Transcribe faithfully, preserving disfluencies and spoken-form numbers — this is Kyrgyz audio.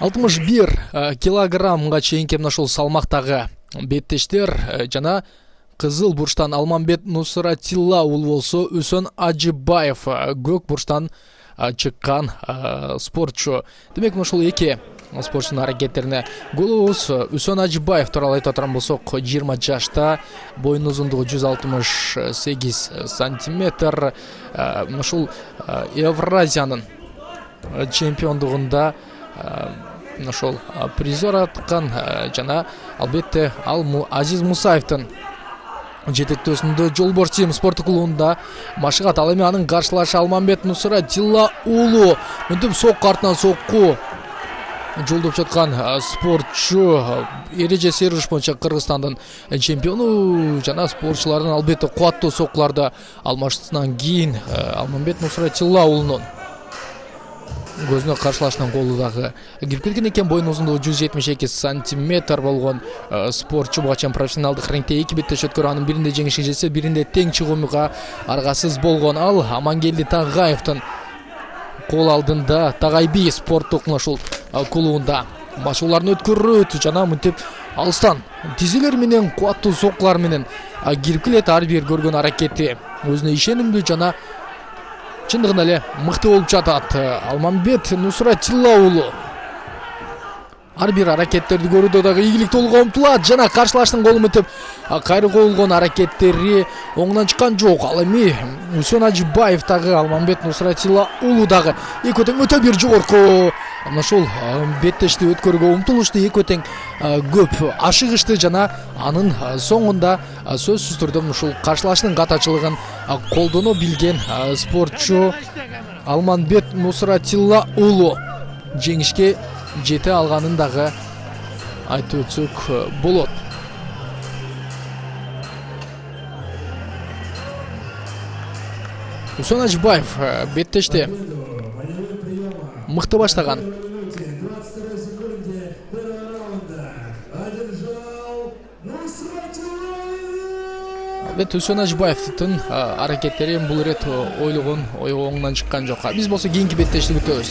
алтымыш бир килограммга чейинки мына ушул салмактагы беттештер жана кызыл бурчтан Алмамбет Нусратилла уулу болсо, Үсөн Ажыбаев көк бурчтан чыккан спортчу. Демек ушул эки спортчунун аракеттерине голубуз. Үсөн Ажыбаев тууралуу айтып турган болсок, жыйырма жашта, боюнун узундугу жүз алтымыш сегиз сантиметр. Ушул Евразиянын чемпиондугунда ошол призер аткан жана албетте ал Азиз Мусаевдин жетектөөсүндө Жолборс Тим спорттук клубунда машыгат. Ал эми анын каршылашы Алмамбет Нусратилла уулу мынтип сокку артынан сокку жолдоп жаткан спортчу. Эреже серуш боюнча Кыргызстандын чемпиону жана спортчулардын албетте кубаттуу соккуларды алмашсынан кийин Алмамбет Нусратилла уулунун көзүнө каршылашынан голу дагы кирип кеткен экен. Боюнун узундугу жүз жетимиш эки сантиметр болгон спортчу буга чейин профессионалдык рингте эки беттеш өткөрүп, анын биринде жеңишке жетсе, биринде тең чыгууга аргасыз болгон. Ал Амангелди Тагаевдин кол алдында Тагай би спорттук ушул клубунда машыгууларын өткөрөт жана мынтип алыстан тизелер менен кубаттуу соккулар менен кирип келет. Ар бир көргөн аракети өзүнө ишенимдүү жана чындыгында эле мыкты болуп жатат. Алмамбет Нусратилла уулу ар бир аракеттерди көрүүдө дагы ийгиликтүүлүгү умтулат жана каршылаштын голу мынтип кайры коюлгон аракеттери оңунан чыккан жок. Ал эми Үсөн Ажыбаев дагы Алмамбет Нусратилла уулу дагы экөө тең өтө бир жогорку мына ушул беттешти өткөрүүгө умтулушту, экөө тең көп ашыгышты жана анын соңунда сөзсүз түрдө ушул каршылаштын катачылыгын колдоно билген спортчу Алмамбет Нусратилла уулу жеңишке жете алганын дагы айтып өтсөк болот. Үсөн Ажыбаев беттеште мыкты баштаган. Албетте Үсөн Ажыбаевдин аракеттери бул ирет ойлогон ой оңунан чыккан жок. Биз болсо кийинки беттешти күтөбүз.